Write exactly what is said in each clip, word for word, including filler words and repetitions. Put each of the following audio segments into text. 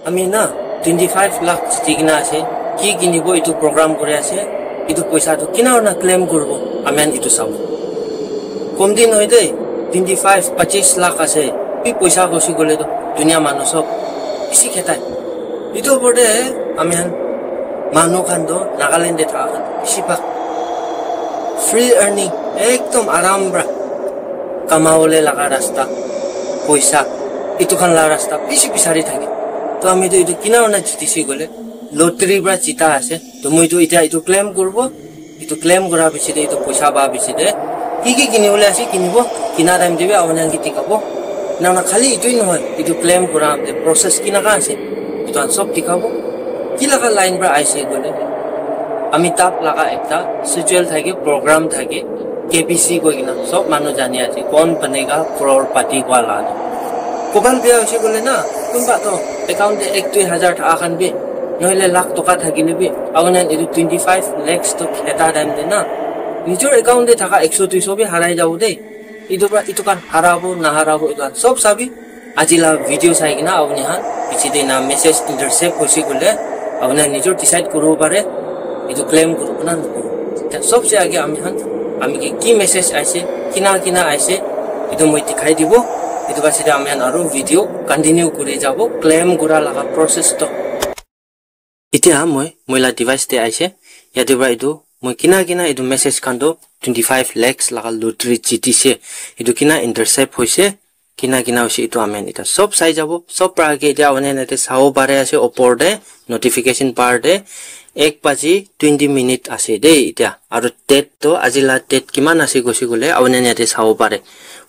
Ami na twenty five lakh jiti kena ase, ki kinibo etu program kuri ase, etu poisa tu kina na claim kuribo, ami khan etu sabo. Kom din hoy de, twenty five, pachis lakh ase, bi poisa gosi gole to dunia manu sob bisi khetai. Etu opor de ami khan manu khan to Nagaland de thaka khan bisi bhag free earning, ekdom aram pra kamawole laga rasta, poisa, etu khan la rasta bisi bisari thake. To ami to etu kina na jitisi gole, lottery pra jita ase. To moi to itya etu claim kuribo, etu claim kura piche de, etu poisa pa piche de, ki ki kinibole ase kinibo, kina time de bi apuni khan ke dikhabo. Na na khali etu nohoi, etu claim kura de process kinaka ase, etu khan sob dikhabo. Ki laga line pra aise koile, Amitabh laga ekta schedule thake, program thake, K B C koi kena sob manu jani ase, kaun banega crorepati wala. Koban biya hoise koile na, kunba to account de ek dui hajar thaka khan bi, nohole lakh toka thakile bi, apuni khan etu twenty five lakhs to eta time de na, nijor account de thaka ekso duiso bi harai jabo de. Etu pra etu khan harabo, naharabo, etu khan sob sabi. Aji la video sai kena apuni khan piche de na message intercept hoise koile, apuni khan nijor decide kuribo pare, etu claim kuribo na nokuribo. Eta sobse age ami khan, ami ke ki message aise, kina kina aise, etu moi dikhai dibo. Etu piche de ami khan aru video continue kuri jabo, claim kura laga process to. Itya moi, moi la device te aise. Yate pra etu moi kina kina etu message khan to twenty five lakhs laga lottery jitise. Etu kina intercept hoise, kina kina hoise etu ami khan eta sob sai jabo. Sob pra age itya apuni khan yate sabo pare ase opor te notification bar te ek baji twenty minute ase de itya. Aru date to aji la date kiman ase koise koile apuni khan yate sabo pare.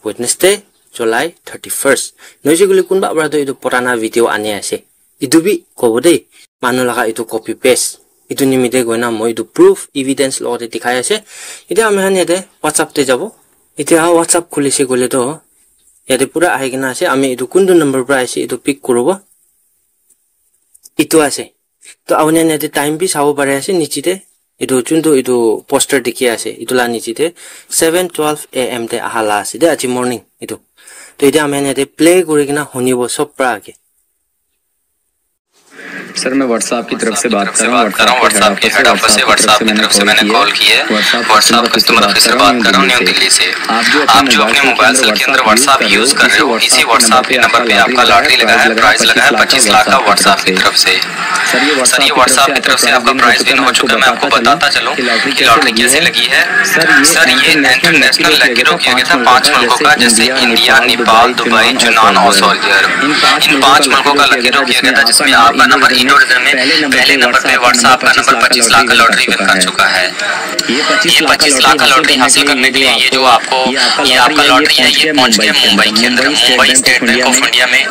Wednesday, July thirty first. Noise koile kunba pra to etu purana video ani ase. Etu bi kobo de, manu laga etu copy paste. Etu nimite koina moi etu proof, evidence logote dikhai ase. Etya ami khan yate WhatsApp te jabo. Etya WhatsApp khulise koile to, yate pura ahi kena ase, ami etu kuntu number pra ase, etu pick kuribo. Etu ase. To apuni khan yate time bi sabo pare ase, niche te. Etu juntu etu poster dikhi ase, etu la niche te seven twelve A M te aha la ase de, aji morning etu. To etya ami khan yate play kuri kena hunibo sob pra age. Sir, मैं WhatsApp की तरफ से बात कर रहा हूँ। WhatsApp के head office से WhatsApp की तरफ से मैंने कॉल की है। WhatsApp कस्टमर ऑफिस से बात कर रहा हूँ, न्यू दिल्ली से। आप जो अपने मोबाइल सेल के अंदर WhatsApp यूज़ कर रहे हो, इसी WhatsApp के नंबर पे आपका लॉटरी लगा है, प्राइस लगा है पच्चीस लाख का WhatsApp की तरफ से। सर, ये WhatsApp की तरफ से आपका प्राइस विन हो चुका है। मैं आपको बताता चलूँ कि लॉटरी कैसे लगी है। सर, ये इंटरनेशनल लकी ड्रॉ किया गया था पांच मुल्कों का, जैसे इंडिया, नेपाल, दुबई, यूनान और सऊदी अरब। इन पांच मुल्कों का लकी ड्रॉ किया गया था, जिसमें आपका नंबर इंडो रीजन में पहले नंबर पे WhatsApp का नंबर पच्चीस लाख का लॉटरी विन कर चुका है। ये पच्चीस लाख का लॉटरी हासिल करने के लिए ये जो आपको, ये आपका लॉटरी है, ये पहुंच गया मुंबई के अंदर, Mumbai state bank of India में।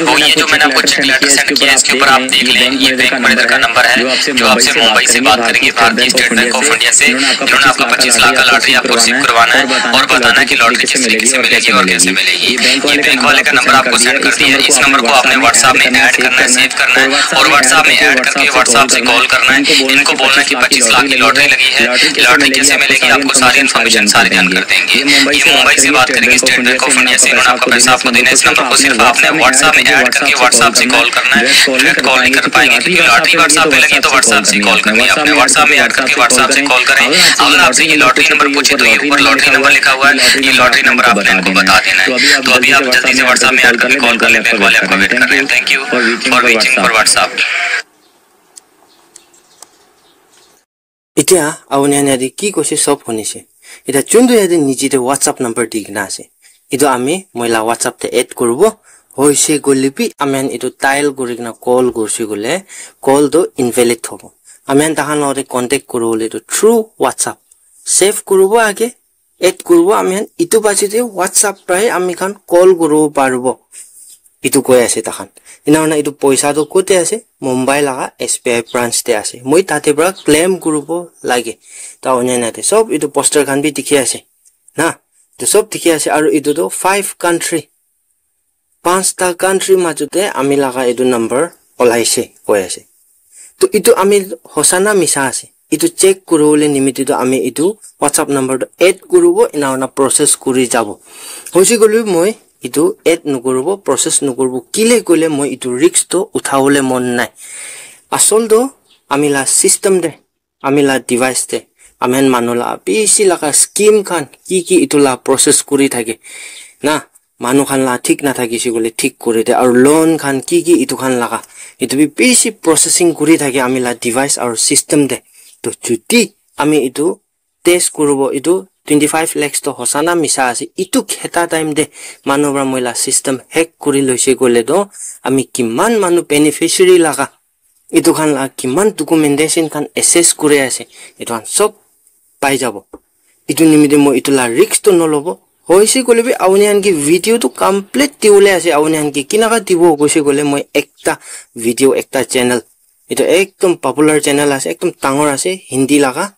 वो ये जो मैंने आपको चेक लेटर सेंड किया है, इसके ऊपर आप देख लें, ये बैंक मैनेजर का नंबर है जो आपसे मुंबई से बात करेंगे, भारतीय स्टेट बैंक ऑफ इंडिया से। इन्होंने आपका पच्चीस लाख का लॉटरी आपको रिसीव करवाना है और बताना है कि लॉटरी किस तरीके से मिलेगी और कैसे मिलेगी। ये बैंक वाले का नंबर आपको सेंड कर दिया है, इस नंबर को आपने WhatsApp में ऐड करना है, सेव करना है और WhatsApp में ऐड करके WhatsApp से कॉल करना है। इनको बोलना है कि पच्चीस लाख की लॉटरी लगी है, लॉटरी कैसे मिलेगी, आपको सारी इन्फॉर्मेशन सारी ध्यान कर देंगे। ये मुंबई से बात करेंगे स्टेट बैंक ऑफ इंडिया से, इन्होंने आपका पैसा आपको देना है। इस नंबर को सिर्फ आपने WhatsApp में ऐड करके WhatsApp से कॉल करना है, डायरेक्ट कॉल नहीं कर पाएंगे क्योंकि लॉटरी WhatsApp पे लगी तो WhatsApp से कॉल करनी है। आपने WhatsApp में ऐड करके WhatsApp से कॉल करें। अगर आपसे ये लॉटरी नंबर पूछे तो ये ऊपर लॉटरी नंबर लिखा हुआ है, ये लॉटरी नंबर आपने इनको बता देना है। तो अभी आप जल्दी से WhatsApp में ऐड करके कॉल कर लें, बैंक वाले आपका वेट कर रहे हैं। Thank you for waiting for WhatsApp. Itya apuni khan yate ki koise sob hunise. Itya juntu yate niche te WhatsApp number di kena ase, etu ami moi la WhatsApp te add kuribo. Hoise koile bi ami khan etu dial kuri kena call kurise koile call to invalid hobo. Ami khan takhan logote contact kuribole to through WhatsApp save kuribo age. Add kuribo ami khan, etu piche te WhatsApp pra he ami khan call kuribo paribo, etu koi ase takhan. Ena hoina etu poisa tu kote ase? Mumbai laga S B I branch te ase. Moi tate pra claim kuribo lage. Ta hoina ena te sob etu poster khan bi dikhi ase na, etu sob dikhi ase. Aru etu tu five country, panchta country majot te ami laga etu number olaise koi ase. To etu ami hosa na misa ase, etu check kuribole nimite to ami etu WhatsApp number to add kuribo, ena hoina process kuri jabo. Hoise koile bi moi etu add nokoribo, process nokoribo. Kile koile moi etu risk to uthabole mon nai. Asol to ami la system te, ami la device te, ami khan manu la bishi laga scheme khan ki ki etu la process kuri thake na, manu khan la thik na thakise koile thik kuri de, aru loan khan ki ki etu khan laga, etu bi bishi processing kuri thake ami la device aru system te. To chuti ami etu test kuribo, etu twenty five lakhs to hosa na misa ase, etu kheta time te manu para moi la system hack kuri loise koile to ami kiman manu beneficiary laga, etu khan la kiman documentation khan access kuri ase, etu khan sob pai jabo. Etu nimite moi etu la risk to nolobo. Hoise koile bi auni khan ke video to complete diwole ase, auni khan ke kinaka dibo koise koile moi ekta video, ekta channel, etu ekdom popular channel ase, ekdom dangor ase, Hindi laga.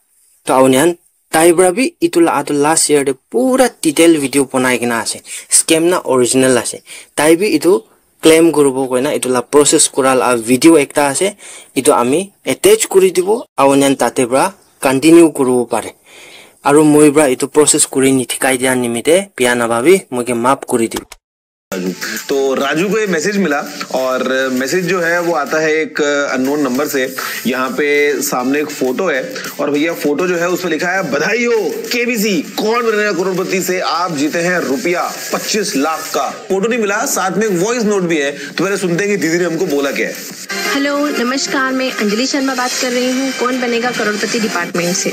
To auni khan tai para bi etu la atu last year te pura detail video banai kena ase, scam na original ase. Tai bi etu claim kuribo koina etu la process kura la video ekta ase, etu ami attach kuri dibo, auni khan tate para continue kuribo pare. Aru moi para etu process kuri ni thikai dia nimite biya nababi, moi ke maaf kuri dibo. Raju. तो राजू को ये मैसेज मिला और मैसेज जो है वो आता है एक अननोन नंबर से। यहाँ पे सामने एक फोटो है और भैया फोटो जो है उस पर लिखा है, बधाई हो केबीसी, कौन बनेगा करोड़पति से आप जीते हैं रुपया पच्चीस लाख का। फोटो नहीं मिला, साथ में एक वॉइस नोट भी है, तो पहले सुनते हैं कि दीदी ने हमको बोला क्या है। हेलो, नमस्कार। मैं अंजलि शर्मा बात कर रही हूँ कौन बनेगा करोड़पति डिपार्टमेंट से।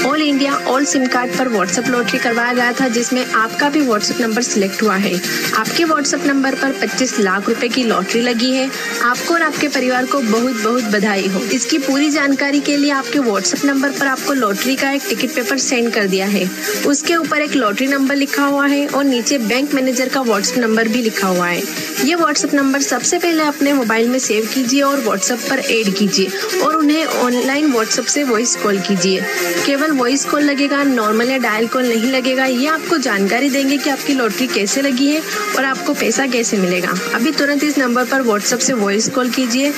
All India all SIM card पर व्हाट्सएप लॉटरी करवाया गया था, जिसमें आपका भी व्हाट्सएप नंबर सिलेक्ट हुआ है। आपके व्हाट्सएप नंबर पर पच्चीस लाख रुपए की लॉटरी लगी है। आपको और आपके परिवार को बहुत बहुत बधाई हो। इसकी पूरी जानकारी के लिए आपके व्हाट्सएप नंबर पर आपको लॉटरी का एक टिकट पेपर सेंड कर दिया है। उसके ऊपर एक लॉटरी नंबर लिखा हुआ है और नीचे बैंक मैनेजर का व्हाट्सएप नंबर भी लिखा हुआ है। ये व्हाट्सएप नंबर सबसे पहले अपने मोबाइल में सेव कीजिए और व्हाट्सएप पर ऐड कीजिए और उन्हें ऑनलाइन व्हाट्सएप से वॉइस कॉल कीजिए। केवल वॉइस कॉल लगेगा, नॉर्मल या डायल कॉल नहीं लगेगा। ये आपको जानकारी देंगे कि आपकी लॉटरी कैसे लगी है और आपको पैसा कैसे मिलेगा। अभी तुरंत इस नंबर पर व्हाट्सएप से वॉइस कॉल कीजिए।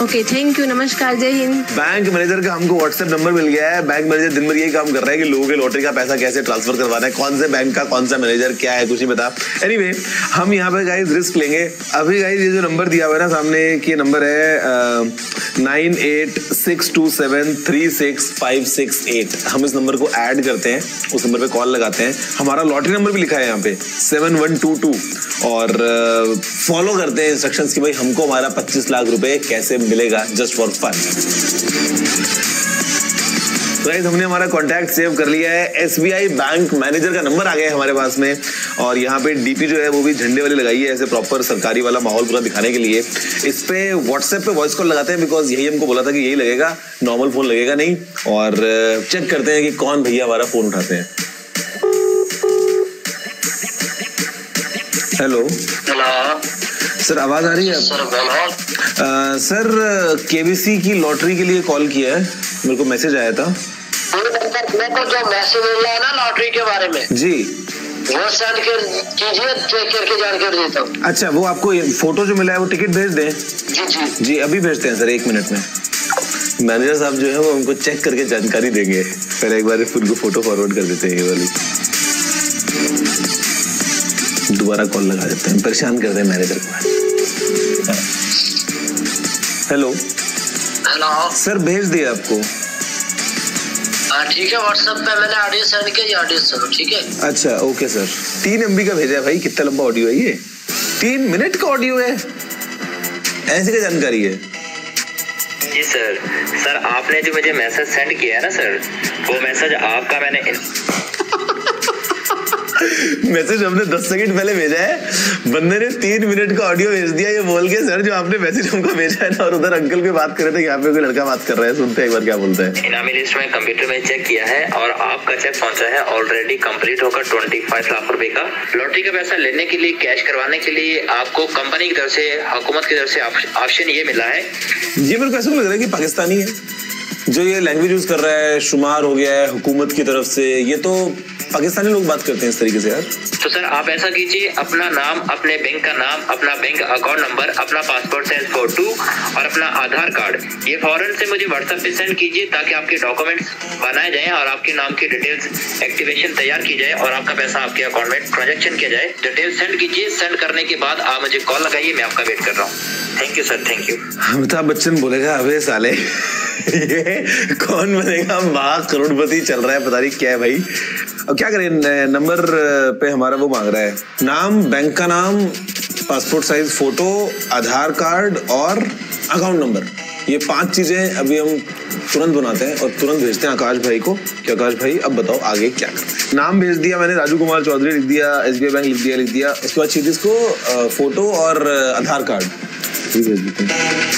ओके, थैंक यू, नमस्कार, जय हिंद। बैंक मैनेजर का हमको व्हाट्सएप नंबर मिल गया है। बैंक मैनेजर दिन भर यही काम कर रहा है कि लोगों के लॉटरी का पैसा कैसे ट्रांसफर करवाना है, कौन से बैंक का कौन सा मैनेजर, क्या है, कुछ नहीं पता। एनीवे, हम यहाँ पे गाइस रिस्क लेंगे। अभी गाइस ये जो नंबर दिया हुआ है ना सामने, कि ये नंबर है nine eight six two seven three six five six eight. हम इस नंबर को ऐड करते हैं, उस नंबर पे कॉल लगाते हैं। हमारा लॉटरी नंबर भी लिखा है यहाँ पे, सेवन वन टू टू। और फॉलो करते हैं इंस्ट्रक्शंस कि भाई हमको हमारा पच्चीस लाख रुपए कैसे मिलेगा, जस्ट फॉर फन। गाइस, हमने हमारा कॉन्टैक्ट सेव कर लिया है। एसबीआई बैंक मैनेजर का नंबर आ गया है हमारे पास में। और यहाँ पे डीपी जो है वो भी झंडे वाली लगाई है, ऐसे प्रॉपर सरकारी वाला माहौल पूरा दिखाने के लिए। इस पे व्हाट्सएप पे वॉइस कॉल लगाते हैं, बिकॉज यही हमको बोला था कि यही लगेगा, नॉर्मल फोन लगेगा नहीं। और चेक करते हैं कि कौन भैया हमारा फोन उठाते हैं। हेलो। हेलो। सर, आवाज आ रही है? सर बोलो। सर, केबीसी की लॉटरी के लिए कॉल किया है, मेरे को मैसेज आया था। मेरे को जो मैसेज मिला है ना लॉटरी के बारे में, जी। वो सेंड कर कीजिए, चेक करके जानकारी देता हूँ। अच्छा, वो आपको ये फोटो जो मिला है, वो टिकट भेज दें? जी जी। जी, अभी भेजते हैं सर, एक मिनट में। मैनेजर साहब जो है, वो हमको चेक करके जानकारी देंगे। पहले एक बार उनको फोटो फॉरवर्ड कर देते हैं, ये वाली। दोबारा कॉल लगा देते हैं, परेशान कर दें मैनेजर को। हेलो। हेलो। सर, भेज दिया आपको। हाँ ठीक है, व्हाट्सएप पे मैंने ऑडियो सेंड किया, ये ऑडियो सुनो, ठीक है? अच्छा, ओके सर। तीन एमबी का भेजा है भाई, कितना लंबा ऑडियो है ये? तीन मिनट का ऑडियो है, ऐसी क्या जानकारी है? जी सर। सर, आपने जो मुझे मैसेज सेंड किया है ना सर, वो मैसेज आपका मैंने इन- मैसेज हमने दस सेकंड पहले भेजा है, बंदे ने तीन मिनट का ऑडियो भेज दिया ये बोल के, सर, जो आपने मैसेज हमको भेजा है ना, और उधर अंकल कोई बात कर रहे थे, यहाँ पे कोई लड़का बात कर रहा है, सुनते हैं एक बार क्या बोलता है। इनामी लिस्ट में कंप्यूटर में चेक किया है और आपका चेक पहुंचा है ऑलरेडी कंप्लीट होकर ट्वेंटी फाइव लाख रुपए का। लॉटरी का पैसा लेने के लिए, कैश करवाने के लिए आपको कंपनी की तरफ से, हुकूमत की तरफ से ऑप्श- ऑप्शन ये मिला है। ये मेरे को ऐसा लग रहा है कि पाकिस्तानी है जो ये लैंग्वेज यूज कर रहा है, शुमार हो गया है हुकूमत की तरफ से। ये तो पाकिस्तानी लोग बात करते हैं इस तरीके से यार। तो सर, आप ऐसा कीजिए, अपना नाम, अपने बैंक का नाम, अपना बैंक अकाउंट नंबर, अपना पासपोर्ट साइज फोटो और अपना आधार कार्ड, ये फौरन से मुझे व्हाट्सएप पे सेंड कीजिए, ताकि आपके डॉक्यूमेंट्स बनाए जाएं और आपके नाम की डिटेल्स एक्टिवेशन तैयार की जाए और आपका पैसा आपके अकाउंट में ट्रांजैक्शन किया जाए। डिटेल्स सेंड कीजिए, सेंड करने के बाद आप मुझे कॉल लगाइए, मैं आपका वेट कर रहा हूँ। Thank you sir, thank you. Amitabh Bachchan बोलेगा, "अबे साले, ये कौन बनेगा महा करोड़पति? चल रहा है, पता नहीं क्या है भाई।" अब क्या करें, न-, नंबर, अ, पे हमारा वो मांग रहा है, नाम, बैंक का नाम, पासपोर्ट साइज फोटो, आधार कार्ड और अकाउंट नंबर। ये पांच चीजें अभी हम तुरंत बनाते हैं और तुरंत भेजते हैं आकाश भाई को कि आकाश भाई, अब बताओ आगे क्या करना है। नाम भेज दिया मैंने, राजू कुमार चौधरी लिख दिया, एसबीआई बैंक लिख दिया, लिख दिया। उसके बाद सीधे इसको, अ, फोटो और, अ, आधार कार्ड भी भेज देते हैं।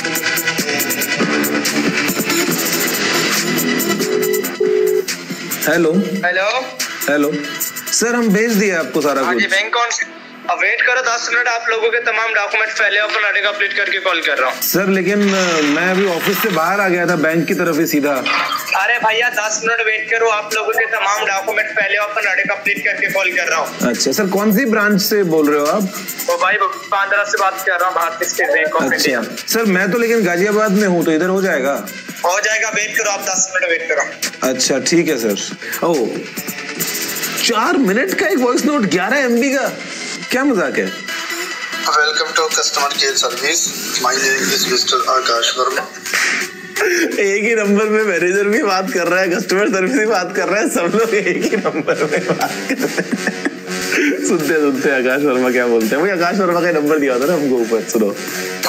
हेलो। हेलो। हेलो। सर, हम भेज दिया आपको सारा हाँ जी, कुछ। बैंक कौन से? अब वेट करो दस मिनट, आप लोगों के तमाम डॉक्यूमेंट पहले ओपन अपडेट करके कॉल कर रहा हूँ। सर, लेकिन, अ, मैं अभी ऑफिस से बाहर आ गया था बैंक की तरफ ही सीधा। अरे भैया, दस मिनट वेट करो, आप लोगों के तमाम डॉक्यूमेंट पहले ओपन अपडेट करके कॉल कर रहा हूँ। अच्छा सर, कौन सी ब्रांच से बोल रहे हो आप? वो भाई, बांद्रा से बात कर रहा हूँ, भारतीय स्टेट बैंक ऑफ इंडिया। अच्छा सर, मैं तो लेकिन गाजियाबाद में हूँ, तो इधर हो जाएगा? हो जाएगा, वेट करो, आप दस मिनट वेट करो। अच्छा, ठीक है सर। ओ, चार मिनट का एक वॉइस नोट, ग्यारह एमबी का, क्या मजाक है? Welcome to customer care service. My name is Mister Akash Verma. एक ही नंबर में मैनेजर भी बात कर रहा है, कस्टमर सर्विस भी बात कर रहा है, सब लोग एक ही नंबर में बात कर रहे हैं। सुनते हैं, सुनते हैं आकाश वर्मा क्या बोलते हैं। वही आकाश वर्मा का नंबर दिया होता ना हमको ऊपर, सुनो।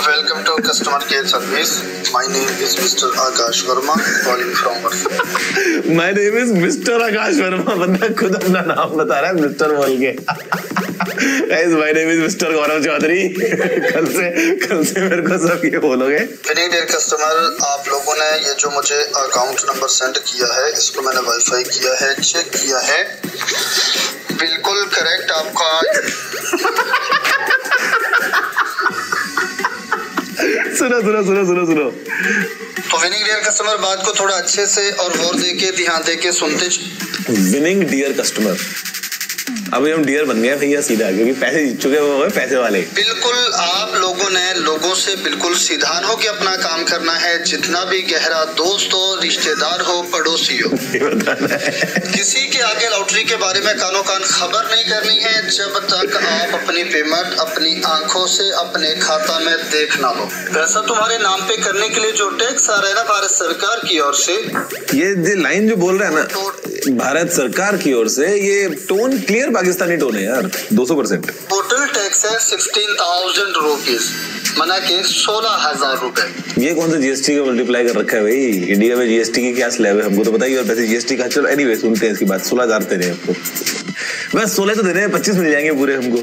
Welcome to customer care service. My name is Mister Akash Verma, calling from Varsa. My name is Mister Akash Verma, बंदा खुद अपना नाम बता रहा है मिस्टर बोल के। Guys, my name is Mister Gaurav Chaudhary. कल से, कल से मेरे को सब ये बोलोगे। Winning dear customer, आप लोगों ने ये जो मुझे अकाउंट नंबर सेंड किया है, इसको मैंने वेरीफाई किया है, चेक किया है, बिल्कुल करेक्ट आपका। सुनो, सुनो, सुनो, सुनो, सुनो। तो विनिंग डियर कस्टमर, बात को थोड़ा अच्छे से और गौर दे के, ध्यान दे के सुनते। विनिंग डियर कस्टमर, अभी हम डियर बन गए भैया सीधा, क्योंकि पैसे जीत चुके हैं, वो है पैसे वाले। बिल्कुल, आप लोगों ने लोगों से बिल्कुल सीधान होके अपना काम करना है। जितना भी गहरा दोस्त हो, रिश्तेदार हो, पड़ोसी हो, ये बताना है। किसी के आगे लॉटरी के बारे में कानो कान खबर नहीं करनी है, जब तक आप अपनी पेमेंट अपनी आंखों से अपने खाता में देख ना लो। पैसा तुम्हारे नाम पे करने के लिए जो टैक्स आ रहा है ना भारत सरकार की ओर से, ये, ये लाइन जो बोल रहा है ना, भारत सरकार की ओर से, ये टोन क्लियर पाकिस्तानी टोन है यार, दो सौ परसेंट। टोटल टैक्स है सिक्सटीन थाउजेंड रुपीज, माना कि सोलह हजार रुपए। ये कौन सा जीएसटी का मल्टीप्लाई कर रखा है भाई? इंडिया में जीएसटी की क्या स्लैब है, हमको तो पता ही है। और वैसे जीएसटी का, चलो, एनीवे, सुनते हैं इसकी बात। सोलह हजार दे रहे हैं आपको, बस सोलह तो दे रहे हैं, पच्चीस मिल जाएंगे पूरे हमको।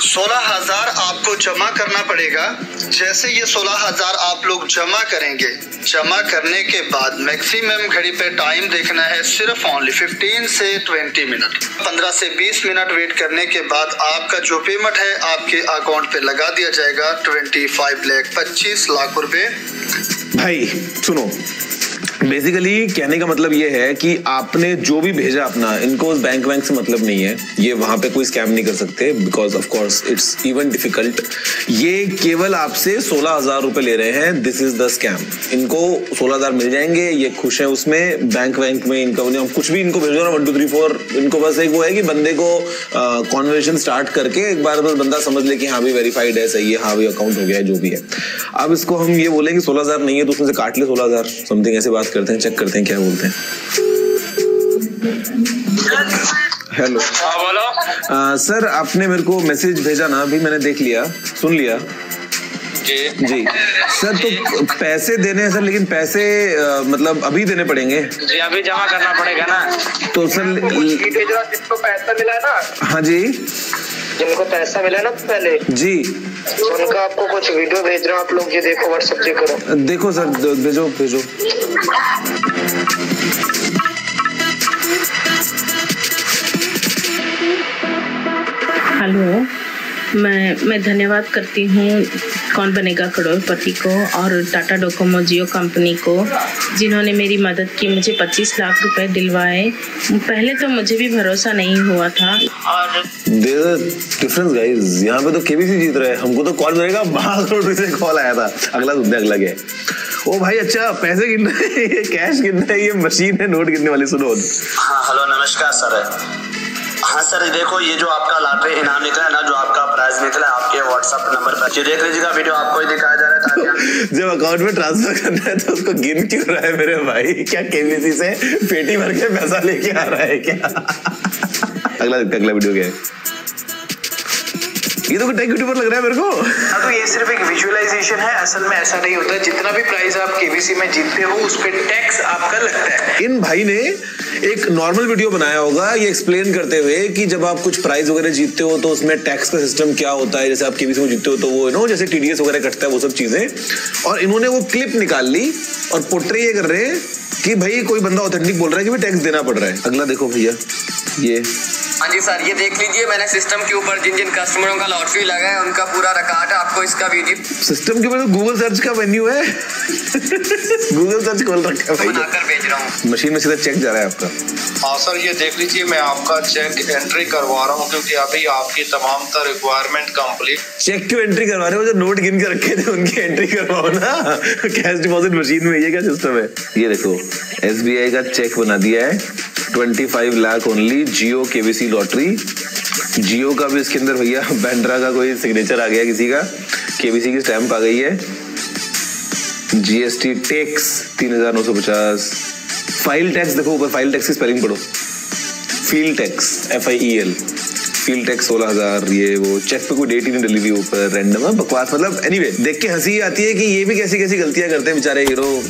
सोलह हजार आपको जमा करना पड़ेगा। जैसे ये सोलह हजार आप लोग जमा करेंगे, जमा करने के बाद मैक्सिमम घड़ी पे टाइम देखना है सिर्फ ओनली फिफ्टीन से ट्वेंटी मिनट। पन्द्रह से बीस मिनट वेट करने के बाद आपका जो पेमेंट है आपके अकाउंट पे लगा दिया जाएगा ट्वेंटी फ़ाइव लाख, पच्चीस लाख रुपए। भाई सुनो, बेसिकली कहने का मतलब ये है कि आपने जो भी भेजा अपना, इनको उस बैंक वैंक से मतलब नहीं है, ये वहाँ पे कोई स्कैम नहीं कर सकते, because of course it's even difficult। ये केवल आपसे सोलह हजार रुपए ले रहे हैं, this is the scam। इनको सोलह हजार मिल जाएंगे, ये खुश हैं उसमें। बैंक वैंक में इनका, उन्हें कुछ भी इनको भेजो ना, वन टू थ्री फोर, इनको बस एक वो है कि बंदे को कॉन्वर्सेशन स्टार्ट करके एक बार बस बंदा समझ ले कि हाँ भाई, वेरीफाइड है, सही है, हाँ भाई, अकाउंट हो गया है, जो भी है। अब इसको हम ये बोलें कि सोलह हजार नहीं है, तो उसमें से काट ले सोलह हजार, समथिंग ऐसे बात करते हैं, चेक करते हैं क्या बोलते हैं। हेलो। हाँ, बोलो। अ, सर, आपने मेरे को मैसेज भेजा ना, अभी मैंने देख लिया, सुन लिया। जी। जी। सर, तो पैसे देने हैं सर, लेकिन पैसे, अ, मतलब अभी देने पड़ेंगे? जी, अभी जमा करना पड़ेगा ना। तो सर, कुछ भेजो, जिसको पैसा मिला है ना। हाँ जी। जिनको पैसा मिला ना पहले। जी। उनका आपको कुछ वीडियो भेज रहा हूँ, आप लोग ये देखो, WhatsApp चेक करो। देखो सर, द-, भेजो, भेजो। हेलो। मैं मैं धन्यवाद करती हूँ कौन बनेगा करोड़पति को और टाटा डोकोमो जियो कंपनी को, जिन्होंने मेरी मदद की, मुझे पच्चीस लाख रुपए दिलवाए। पहले तो मुझे भी भरोसा नहीं हुआ था। और There is difference, guys. यहाँ पे तो केबीसी जीत रहे हैं, हमको तो कौन बनेगा महाकरोड़पति से कॉल आया था। अगला सुनते हैं, अगला क्या है? ओ भाई, अच्छा, पैसे गिन रहे हैं, ये कैश गिन रहे हैं, ये मशीन है नोट गिनने वाली। सुनो। हाँ, हेलो, नमस्कार सर। हाँ सर, देखो, ये जो आपका लॉटरी इनाम निकला है ना, जो आपका प्राइज निकला है, आपके व्हाट्सएप नंबर पर, ये देख लीजिएगा, वीडियो आपको ही दिखाया जा रहा है, ताकि हम जब अकाउंट में ट्रांसफर करना है तो उसको गिन क्यों रहा है मेरे भाई? क्या केबीसी से पेटी भर के पैसा लेके आ रहा है क्या? अगला, अगला वीडियो क्या है? ये तो कोई टेक यूट्यूबर लग रहा है मेरे को। हाँ, तो ये सिर्फ एक विजुअलाइजेशन है। असल में ऐसा नहीं होता। जितना भी प्राइस आप केबीसी में जीतते हो, उस पर टैक्स आपका लगता है। इन भाई ने एक नॉर्मल वीडियो बनाया होगा ये एक्सप्लेन करते हुए कि जब आप कुछ प्राइज वगैरह जीतते हो तो उसमें टैक्स का सिस्टम क्या होता है, जैसे आप केबीसी में जीतते हो तो वो यू नो जैसे टीडीएस वगैरह कटता है, वो सब चीजें। और इन्होंने वो क्लिप निकाल ली और पोर्ट्रे ये कर रहे हैं कि भाई कोई बंदा ऑथेंटिक बोल रहा है कि भाई टैक्स देना पड़ रहा है। अगला देखो भैया, ये हाँ जी सर, ये देख लीजिए, मैंने सिस्टम के ऊपर जिन जिन कस्टमरों का लॉटरी लगा है, उनका पूरा रिकॉर्ड है। आपको इसका वीडियो सिस्टम के ऊपर तो गूगल सर्च का मेन्यू है। गूगल सर्च खोल रखा है भाई। बनाकर भेज रहा हूँ। मशीन में सीधा चेक जा रहा है आपका। हाँ सर, ये देख लीजिए, मैं आपका चेक एंट्री करवा रहा हूँ, क्योंकि अभी आपकी तमाम तर रिक्वायरमेंट कंप्लीट। चेक क्यों एंट्री करवा रहे हो? जो नोट गिन के रखे थे उनकी एंट्री करवाओ ना। कैश डिपॉजिट मशीन में, ये क्या सिस्टम है? ये देखो, एसबीआई का चेक बना दिया है, ट्वेंटी फाइव लाख ओनली, जियो केबीसी लॉटरी। जियो का भी इसके अंदर भैया बांद्रा का कोई सिग्नेचर आ गया किसी का, केबीसी की स्टैंप आ गई है। जीएसटी टैक्स तीन हजार नौ सौ पचास। फाइल टैक्स देखो, ऊपर फाइल टैक्स की स्पेलिंग पढ़ो, feel tax, F I E L. Feel tax सोलह हजार, ये वो चेक पे कोई डेट ही नहीं डली हुई ऊपर, रैंडम है, बकवास। मतलब एनीवे, देख के हंसी आती है कि ये भी कैसी कैसी गलतियां करते हैं बेचारे हीरो।